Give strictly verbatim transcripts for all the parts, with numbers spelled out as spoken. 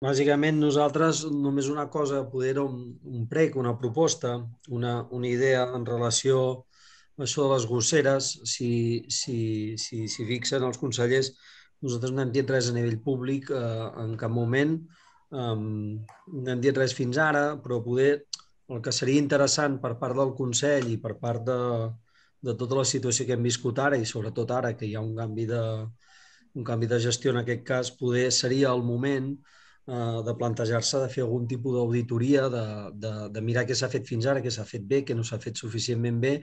Bàsicament nosaltres només una cosa, poder era un, un prec, una proposta, una, una idea en relació a això de les gosseres. Si, si, si, si fixen els consellers, nosaltres no hem dit res a nivell públic eh, en cap moment, um, no hem dit res fins ara, però poder el que seria interessant per part del Consell i per part de, de tota la situació que hem viscut ara i sobretot ara que hi ha un canvi de, un canvi de gestió en aquest cas, poder seria el moment eh, de plantejar-se de fer algun tipus d'auditoria, de, de, de mirar què s'ha fet fins ara, què s'ha fet bé, què no s'ha fet suficientment bé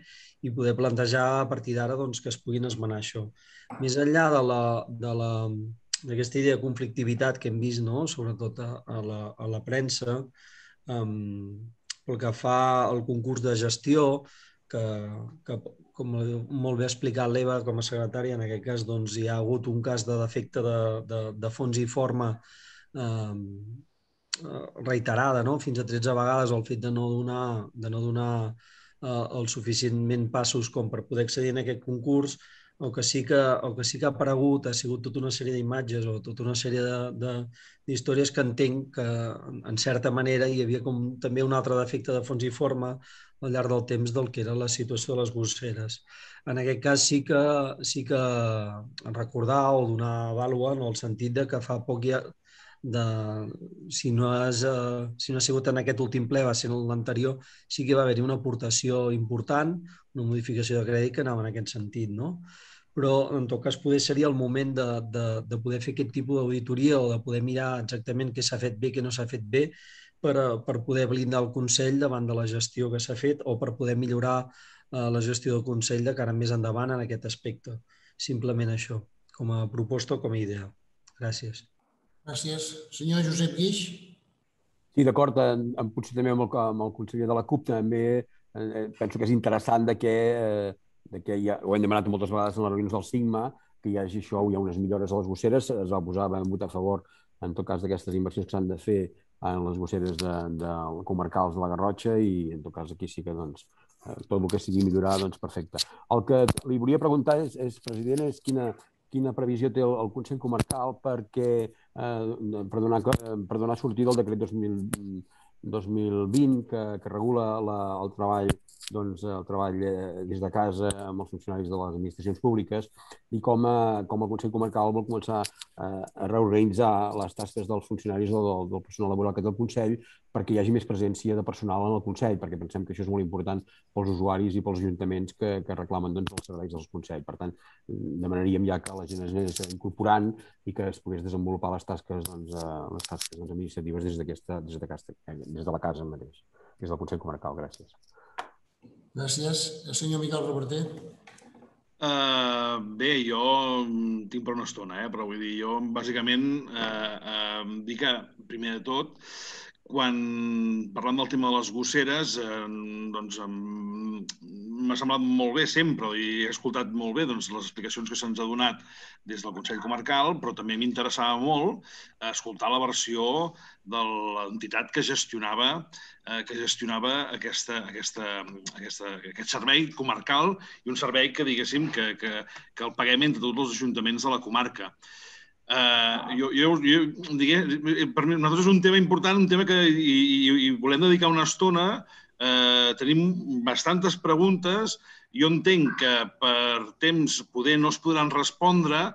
i poder plantejar a partir d'ara doncs, que es puguin esmenar això. Més enllà de la, de la, d'aquesta idea de conflictivitat que hem vist, no? Sobretot a, a, la, a la premsa, um, pel que fa al concurs de gestió, que, que com molt bé ha explicat l'Eva com a secretària, en aquest cas doncs, hi ha hagut un cas de defecte de, de, de fons i forma eh, reiterada, no? Fins a tretze vegades el fet de no donar, de no donar eh, els suficientment passos com per poder accedir en aquest concurs. El que sí que, el que, sí que ha aparegut ha sigut tota una sèrie d'imatges o tota una sèrie d'històries que entenc que, en certa manera, hi havia com també un altre defecte de fons i forma al llarg del temps del que era la situació de les gosseres. En aquest cas sí que, sí que recordar o donar vàlua en el sentit de que fa poc ja, de, si, no has, eh, si no ha sigut en aquest últim ple, va ser en l'anterior, sí que va haver-hi una aportació important, una modificació de crèdit que anava en aquest sentit, no? Però en tot cas poder seria el moment de, de, de poder fer aquest tipus d'auditoria o de poder mirar exactament què s'ha fet bé, què no s'ha fet bé, per, per poder blindar el Consell davant de la gestió que s'ha fet o per poder millorar eh, la gestió del Consell de cara més endavant en aquest aspecte. Simplement això, com a proposta o com a idea. Gràcies. Gràcies. Senyor Josep Guix. Sí, d'acord, potser també amb el, amb el conseller de la CUP també eh, penso que és interessant de que, eh, de que ja, ho hem demanat moltes vegades en les reunions del Sigma, que hi hagi això, hi ha unes millores a les gosseres, es va posar, vam votar a favor en tot cas d'aquestes inversions que s'han de fer en les gosseres de, de comarcals de la Garrotxa i en tot cas aquí sí que doncs, tot el que sigui millorar, doncs perfecte. El que li volia preguntar és, és president, és quina, quina previsió té el, el Consell Comarcal perquè, eh, per, donar, per donar sortida al decret dos mil, dos mil vint que, que regula la, el treball, doncs, el treball des de casa amb els funcionaris de les administracions públiques i com, a, com el Consell Comarcal vol començar a, a reorganitzar les tasques dels funcionaris o del, del personal laboral que té el Consell perquè hi hagi més presència de personal en el Consell, perquè pensem que això és molt important pels usuaris i pels ajuntaments que, que reclamen doncs, els serveis del Consell. Per tant, demanaríem ja que la gent es anés incorporant i que es pogués desenvolupar les tasques, doncs, les tasques doncs, administratives des, des, de casa, des de la casa mateix, des del Consell Comarcal. Gràcies. Gràcies. El senyor Miquel Reverter. Uh, bé, jo tinc per una estona, eh? Però vull dir, jo bàsicament uh, uh, dir que, primer de tot, quan parlant del tema de les gosseres, eh, doncs m'ha semblat molt bé sempre i he escoltat molt bé doncs, les explicacions que se'ns ha donat des del Consell Comarcal, però també m'interessava molt escoltar la versió de l'entitat que gestionava, eh, que gestionava aquesta, aquesta, aquesta, aquest servei comarcal i un servei que, diguéssim, que, que, que el paguem entre tots els ajuntaments de la comarca. Uh, jo, jo, jo digué, per mi, nosaltres és un tema important, un tema que i, i, i volem dedicar una estona. Uh, tenim bastantes preguntes. Jo entenc que per temps poder no es podran respondre,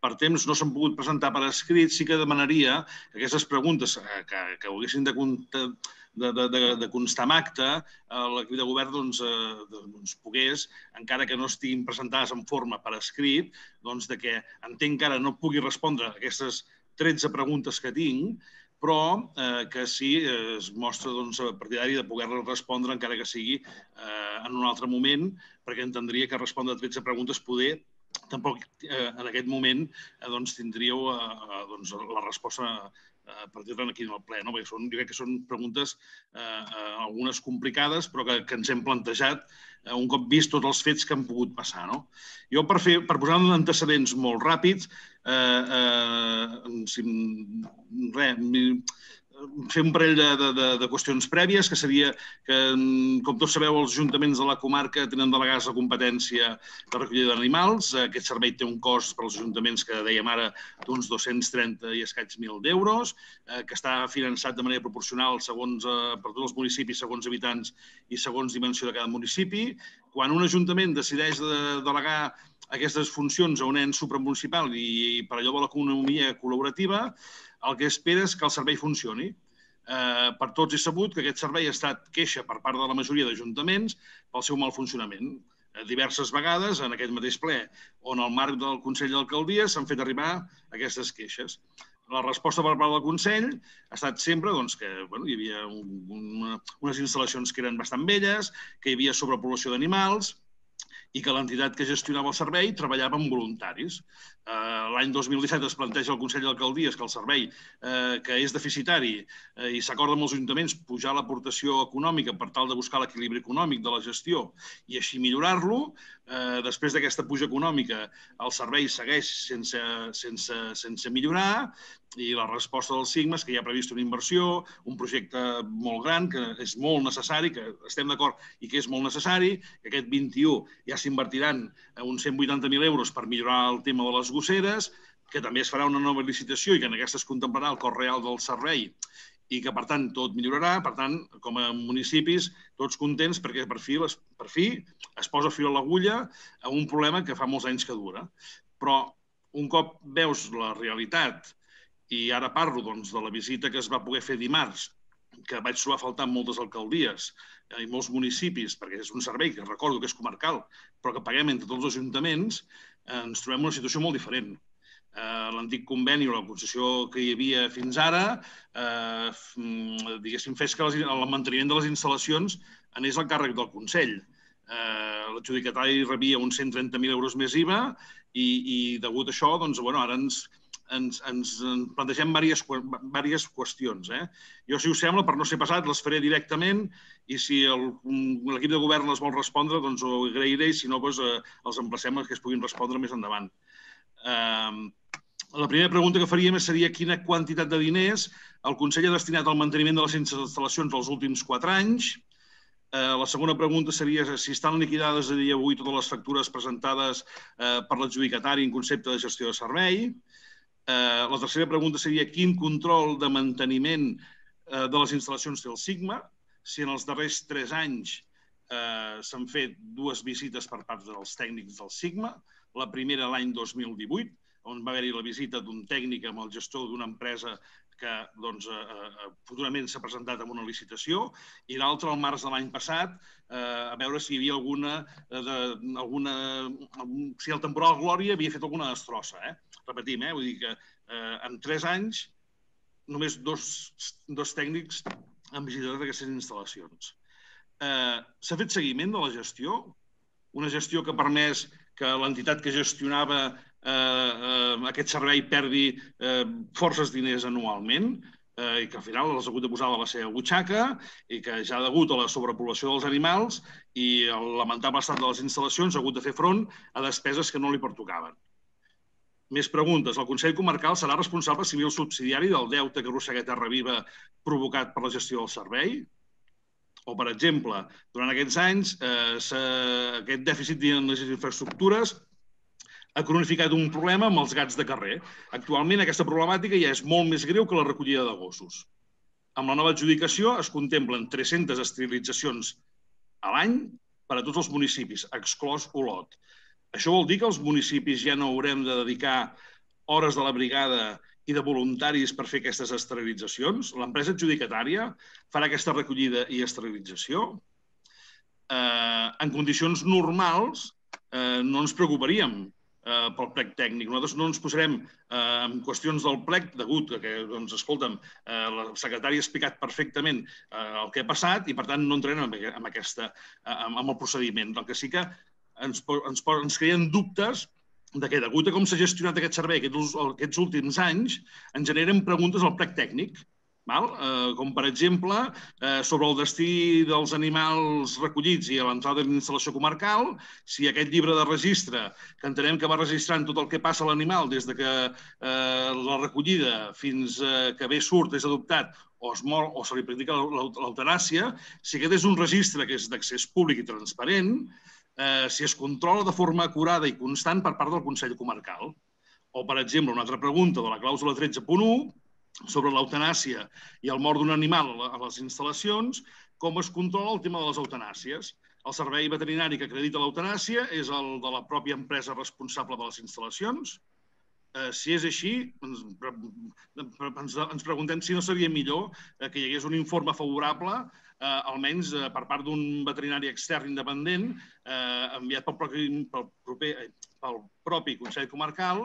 per temps no s'han pogut presentar per escrit. Sí que demanaria que aquestes preguntes que, que ho haguessin de comptar De, de, de, de constar en acte, l'equip de govern doncs, eh, doncs, pogués, encara que no estiguin presentades en forma per escrit, doncs de que entenc que ara no pugui respondre a aquestes tretze preguntes que tinc, però eh, que sí eh, es mostra doncs, partidari de poder-les respondre encara que sigui eh, en un altre moment, perquè entendria que respondre a tretze preguntes poder tampoc eh, en aquest moment eh, doncs, tindríeu eh, doncs, la resposta a partir-ne aquí en el ple, no? Perquè són, jo crec que són preguntes eh, eh, algunes complicades, però que, que ens hem plantejat eh, un cop vist tots els fets que han pogut passar, no? Jo, per, fer, per posar antecedents molt ràpids, eh, eh, si, res, fer un parell de, de, de qüestions prèvies, que seria que, com tots sabeu, els ajuntaments de la comarca tenen delegats la competència de recollida d'animals. Aquest servei té un cost per als ajuntaments, que dèiem ara, d'uns dos-cents trenta i escaig mil d'euros, que està finançat de manera proporcional segons, per tots els municipis, segons habitants i segons dimensió de cada municipi. Quan un ajuntament decideix de delegar aquestes funcions a un ens supramunicipal i per allò de l'economia col·laborativa, el que espera és que el servei funcioni. Per tots és sabut que aquest servei ha estat queixa per part de la majoria d'ajuntaments pel seu mal funcionament. Diverses vegades, en aquest mateix ple, on al marc del Consell d'Alcaldia s'han fet arribar aquestes queixes. La resposta per part del Consell ha estat sempre que hi havia unes instal·lacions que eren bastant velles, que hi havia sobrepoblació d'animals, i que l'entitat que gestionava el servei treballava amb voluntaris. L'any dos mil disset es planteja al Consell d'Alcaldies que el servei, que és deficitari, i s'acorda amb els ajuntaments pujar l'aportació econòmica per tal de buscar l'equilibri econòmic de la gestió i així millorar-lo. Després d'aquesta puja econòmica, el servei segueix sense millorar i la resposta del Sigma és que hi ha previst una inversió, un projecte molt gran, que és molt necessari, que estem d'acord i que és molt necessari, que aquest vint-i-u ja s'invertiran uns cent vuitanta mil euros per millorar el tema de les gosseres, que també es farà una nova licitació i que en aquesta es contemplarà el cost real del servei i que, per tant, tot millorarà. Per tant, com a municipis, tots contents perquè per fi, per fi es posa fil a l'agulla a un problema que fa molts anys que dura. Però un cop veus la realitat, i ara parlo doncs, de la visita que es va poder fer dimarts, que vaig trobar a faltar en moltes alcaldies i molts municipis, perquè és un servei que recordo que és comarcal, però que paguem entre tots els ajuntaments, ens trobem en una situació molt diferent. L'antic conveni o la concessió que hi havia fins ara, diguéssim, fes que el manteniment de les instal·lacions anés al càrrec del Consell. L'adjudicatari rebia uns cent trenta mil euros més I V A i, degut a això, ara ens ens plantegem diverses qüestions. Jo, si us sembla, per no ser passat, les faré directament i si l'equip de govern les vol respondre, doncs ho agrairé i si no, els emplacem que es puguin respondre més endavant. La primera pregunta que faríem seria quina quantitat de diners el Consell ha destinat al manteniment de les instal·lacions dels últims quatre anys. La segona pregunta seria si estan liquidades a dia d'avui totes les factures presentades per l'adjudicatari en concepte de gestió de servei. La tercera pregunta seria quin control de manteniment de les instal·lacions té el Sigma, si en els darrers tres anys s'han fet dues visites per part dels tècnics del Sigma, la primera l'any dos mil divuit, on va haver-hi la visita d'un tècnic amb el gestor d'una empresa que futurament s'ha presentat en una licitació, i l'altra el març de l'any passat, a veure si hi havia alguna... si el temporal Glòria havia fet alguna destrossa. Repetim, vull dir que en tres anys només dos tècnics han visitat aquestes instal·lacions. S'ha fet seguiment de la gestió, una gestió que ha permès que l'entitat que gestionava aquest servei perdi forces diners anualment i que al final els ha hagut de posar a la seva butxaca i que ja degut a la sobrepoblació dels animals i el lamentable estat de les instal·lacions ha hagut de fer front a despeses que no li pertocaven. Més preguntes. El Consell Comarcal serà responsable civil subsidiari del deute que arrossega Terra Viva provocat per la gestió del servei? O, per exemple, durant aquests anys, aquest dèficit en les infraestructures ha cronificat un problema amb els gats de carrer. Actualment, aquesta problemàtica ja és molt més greu que la recollida de gossos. Amb la nova adjudicació es contemplen tres-centes esterilitzacions a l'any per a tots els municipis, exclòs Olot. Això vol dir que els municipis ja no haurem de dedicar hores de la brigada i de voluntaris per fer aquestes esterilitzacions? L'empresa adjudicatària farà aquesta recollida i esterilització? En condicions normals no ens preocuparíem pel plec tècnic. Nosaltres no ens posarem en qüestions del plec degut que, doncs, escolta'm, la secretària ha explicat perfectament el que ha passat i, per tant, no entrarem en el procediment. El que sí que ens creen dubtes de que, degut a com s'ha gestionat aquest servei aquests últims anys, ens generen preguntes al plec tècnic, com, per exemple, sobre el destí dels animals recollits i a l'entrada de l'instal·lació comarcal, si aquest llibre de registre, que entenem que va registrant tot el que passa a l'animal des que la recollida fins que bé surt, és adoptat, o, es mor, o se li practica l'eutanàsia, si aquest és un registre que és d'accés públic i transparent, eh, si es controla de forma acurada i constant per part del Consell Comarcal. O, per exemple, una altra pregunta de la clàusula tretze punt u sobre l'eutanàsia i el mort d'un animal a les instal·lacions, com es controla el tema de les eutanàsies. El servei veterinari que acredita l'eutanàsia és el de la pròpia empresa responsable de les instal·lacions. Eh, si és així, ens, ens, ens preguntem si no seria millor eh, que hi hagués un informe favorable, eh, almenys eh, per part d'un veterinari extern independent, eh, enviat pel propi, pel, proper, pel propi Consell Comarcal,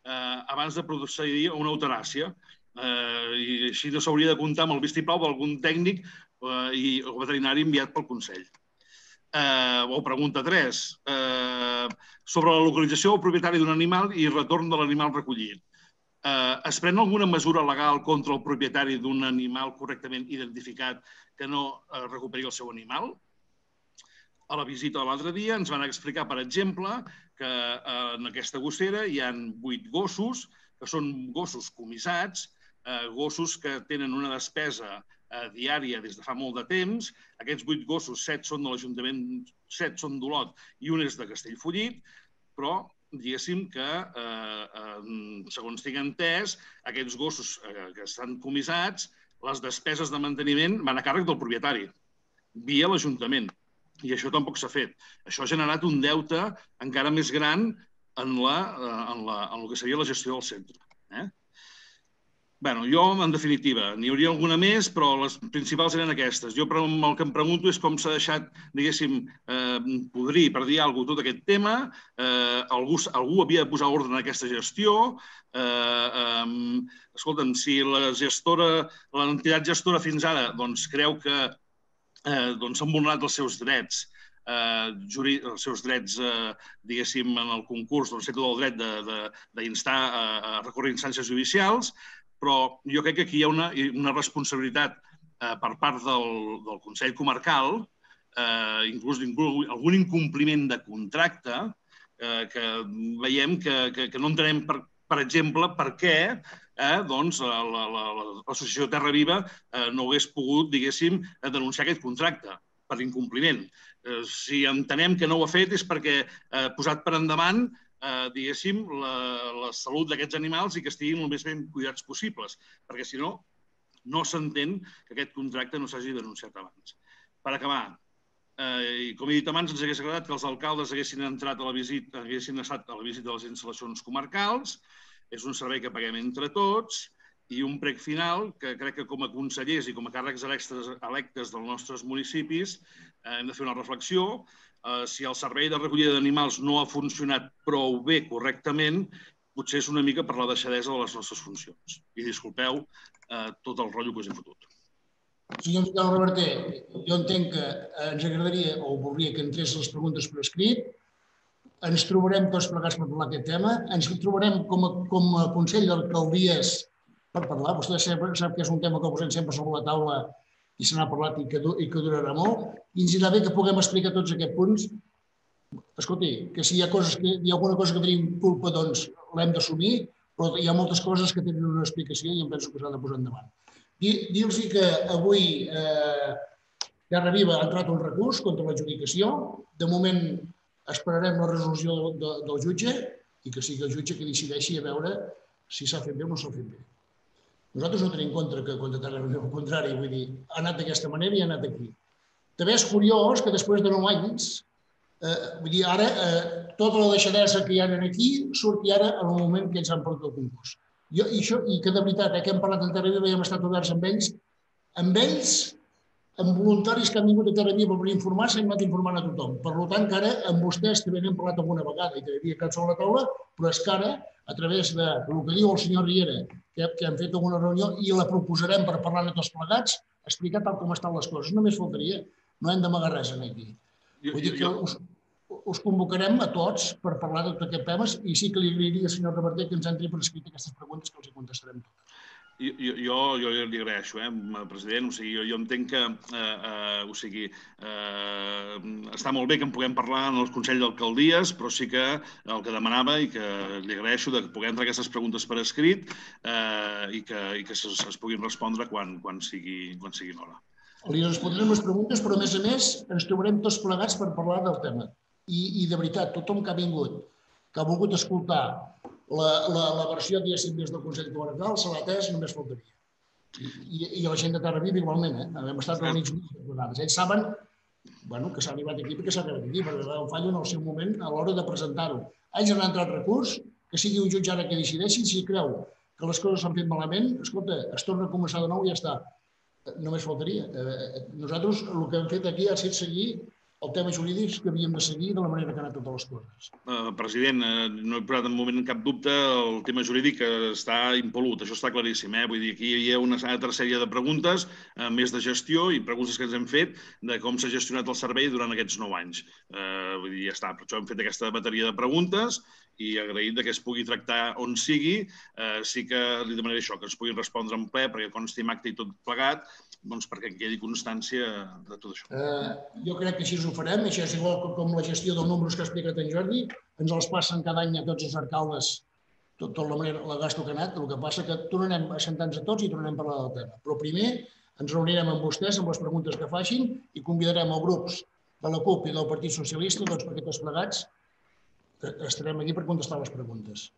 eh, abans de procedir a una eutanàsia. Eh, I així no s'hauria de comptar amb el vistiplau d'algun tècnic eh, i, o veterinari enviat pel Consell. Eh, o pregunta tres, eh, sobre la localització del propietari d'un animal i retorn de l'animal recollit. Eh, es pren alguna mesura legal contra el propietari d'un animal correctament identificat que no eh, recuperi el seu animal? A la visita de l'altre dia ens van explicar, per exemple, que eh, en aquesta gossera hi ha vuit gossos, que són gossos comissats, eh, gossos que tenen una despesa diària des de fa molt de temps. Aquests vuit gossos, set són de l'Ajuntament, set són d'Olot i un és de Castellfollit, però diguéssim que, eh, eh, segons tinc entès, aquests gossos eh, que estan comissats, les despeses de manteniment van a càrrec del propietari, via l'Ajuntament. I això tampoc s'ha fet. Això ha generat un deute encara més gran en, la, en, la, en el que seria la gestió del centre. Eh? Bé, jo, en definitiva, n'hi hauria alguna més, però les principals eren aquestes. Jo el que em pregunto és com s'ha deixat, diguéssim, eh, podrir, per dir alguna cosa, tot aquest tema. Eh, algú, algú havia de posar ordre en aquesta gestió. Eh, eh, escolta'm, si la gestora, l'entitat gestora fins ara doncs, creu que eh, doncs, s'han vulnerat els seus drets, eh, juri, els seus drets, eh, diguéssim, en el concurs, doncs té tot el dret d'instar a, a recórrer instàncies judicials, però jo crec que aquí hi ha una, una responsabilitat eh, per part del, del Consell Comarcal, eh, inclús, inclús algun incompliment de contracte, eh, que veiem que, que, que no entenem, per, per exemple, per què eh, doncs, l'Associació Terra Viva eh, no hagués pogut, diguéssim, denunciar aquest contracte per incompliment. Eh, si entenem que no ho ha fet és perquè ha eh, posat per endavant Eh, diguéssim, la, la salut d'aquests animals i que estiguin el més ben cuidats possibles, perquè si no, no s'entén que aquest contracte no s'hagi denunciat abans. Per acabar, eh, com he dit abans, ens hagués agradat que els alcaldes haguessin entrat a la visita, haguessin estat a la visita de les instal·lacions comarcals. És un servei que paguem entre tots i un prec final que crec que com a consellers i com a càrrecs electes, electes dels nostres municipis eh, hem de fer una reflexió. Uh, si el servei de recollida d'animals no ha funcionat prou bé correctament, potser és una mica per la deixadesa de les nostres funcions. I disculpeu uh, tot el rotllo que us he fotut. Senyor Miquel Reverter, jo entenc que ens agradaria o voldria que entrés les preguntes per escrit. Ens trobarem tots plegats per parlar aquest tema. Ens trobarem com a, com a Consell d'Alcaldies per parlar. Vostè sap, sap que és un tema que posem sempre sobre la taula i se n'ha parlat i que, i que durarà molt, i ens irà bé que puguem explicar tots aquests punts. Escolti, que si hi ha, coses que, hi ha alguna cosa que tenim culpa, doncs l'hem d'assumir, però hi ha moltes coses que tenen una explicació i em penso que s'ha de posar endavant. Dir-los que avui eh, Terra Viva ha entrat un recurs contra l'adjudicació. De moment esperarem la resolució de, de, del jutge i que sigui el jutge que decideixi a veure si s'ha fet bé o no s'ha fet bé. Nosaltres no tenim en compte que contra Terra Viva, al contrari, vull dir, ha anat d'aquesta manera i ha anat aquí. També és curiós que després de nou anys, eh, vull dir, ara eh, tota la deixadesa que hi ha aquí surti ara en el moment que ells han portat el concurs. Jo, i, això, I que de veritat, eh, que hem parlat en Terra Viva i hem estat oberts amb ells, amb ells, amb voluntaris que han vingut a Terra Viva per informar-se, hem anat informant a tothom. Per tant, que ara amb vostès també n'hem parlat alguna vegada i que hi havia cap sobre la taula, però és que ara, a través del que diu el senyor Riera, que, que hem fet alguna reunió i la proposarem per parlar de tots plegats, explicar tal com estan les coses. Només faltaria, no hem d'amagar res aquí. Vull dir que us, us convocarem a tots per parlar de tots aquests temes i sí que li agrairia al senyor Reverter que ens entri per escrit aquestes preguntes que els hi contestarem totes. Jo, jo, jo li agraeixo, eh, president. O sigui, jo, jo entenc que eh, eh, o sigui, eh, està molt bé que en puguem parlar en el Consell d'Alcaldies, però sí que el que demanava i que li agraeixo de que puguem entrar aquestes preguntes per escrit eh, i que, i que es, es puguin respondre quan, quan sigui, quan sigui l'hora. Li respondrem les preguntes, però a més a més ens trobarem tots plegats per parlar del tema. I, i de veritat, tothom que ha vingut, que ha volgut escoltar La, la, la versió, diguéssim, des del Consell Comarcal se l'ha atès, només faltaria. I, i la gent de Terraviva igualment, eh? Hem estat reunits moltes vegades. Ells saben bueno, que s'ha arribat aquí perquè s'ha arribat aquí, perquè va fallo en el seu moment a l'hora de presentar-ho. Ells han entrat recurs, que sigui un jutge ara que decideixi, si creu que les coses s'han fet malament, escolta, es torna a començar de nou i ja està. Només faltaria. Nosaltres el que hem fet aquí ha estat seguir el tema jurídic que havíem de seguir de la manera que han anat totes les coses. Uh, president, uh, no he posat en moment cap dubte el tema jurídic que està impolut, això està claríssim. Eh? Vull dir, aquí hi ha una altra sèrie de preguntes, uh, més de gestió i preguntes que ens hem fet de com s'ha gestionat el servei durant aquests nou anys. Uh, vull dir, ja està, per això hem fet aquesta bateria de preguntes i agraït que es pugui tractar on sigui. Uh, sí que li demanaré això, que ens puguin respondre en ple, perquè consti en acte i tot plegat, doncs perquè en quedi constància de tot això. Uh, jo crec que així ho farem, això és igual com la gestió dels números que ha explicat en Jordi, ens els passen cada any a tots els alcaldes, tot, tot la manera, la gasto que ha anat, el que passa que tornarem a sentar-nos a tots i tornarem a parlar del tema. Però primer ens reunirem amb vostès, amb les preguntes que facin i convidarem els grups de la CUP i del Partit Socialista, doncs perquè tots plegats estarem aquí per contestar les preguntes.